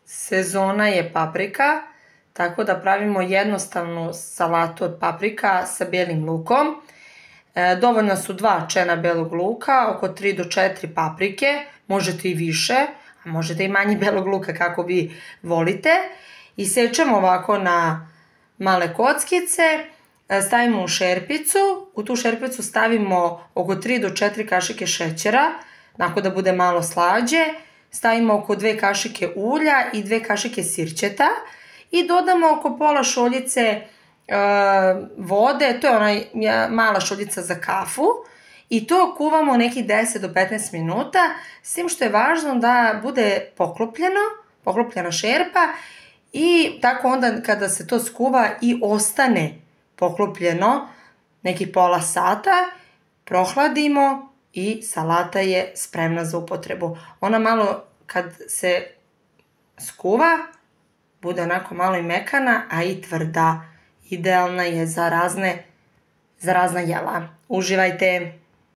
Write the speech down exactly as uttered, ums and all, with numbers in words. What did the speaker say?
Sezona je paprika, tako da pravimo jednostavnu salatu od paprika sa bijelim lukom. E, dovoljno su dva čena belog luka, oko tri do četiri paprike, možete i više, a možete i manje belog luka kako vi volite. Isečemo ovako na male kockice, stavimo u šerpicu, u tu šerpicu stavimo oko tri do četiri kašike šećera, onako da bude malo slađe, stavimo oko dve kašike ulja i dve kašike sirćeta i dodamo oko pola šoljice e, vode, to je onaj mala šoljica za kafu, i to kuvamo nekih deset do petnaest minuta, s tim što je važno da bude poklopljeno, poklopljena šerpa, i tako onda kada se to skuva i ostane poklopljeno nekih pola sata, prohladimo i salata je spremna za upotrebu. Ona malo kad se skuva, bude onako malo i mekana, a i tvrda. Idealna je za razne, za razna jela. Uživajte!